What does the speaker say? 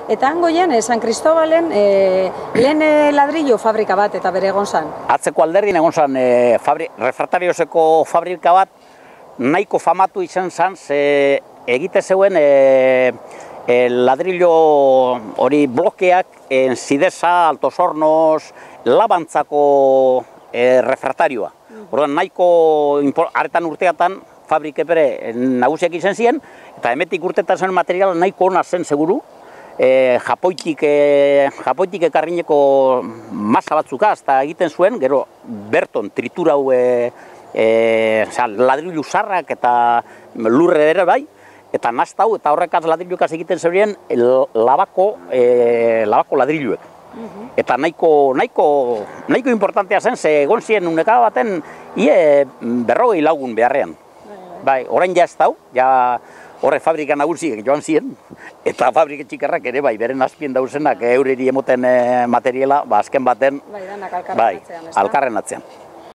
Eta hangoien, San Cristobalen, lehen ladrillo fabrika bat eta bere egon zan. Atzeko alderdin egon zan, refraktariozeko fabrika bat, nahiko famatu izan zan, egite zeuen ladrillo hori blokeak, Sidesa, Altos Hornos, Labantzako refraktarioa. Orduan, nahiko aretan urteatan fabrike bere nagusiak izan ziren, eta emetik urtetan zen materiala nahiko ona zen seguru, Japoitik ekarrineko masa batzuka, eta egiten zuen, gero berton triturau ladrilu zarrak eta lurre ere bai, eta naztau eta horrekaz ladrilukaz egiten zeuden labako ladriluek. Eta nahiko importantea zen, ze egon ziren uneka baten berrogei lagun beharrean. Bai, orain ja ez dau, ja horre fabrika nagusiek joan ziren, eta fabrika txikarrak ere bai, beren azpien dauzenak eureri emoten materiala, azken baten, bai, alkarren atzean.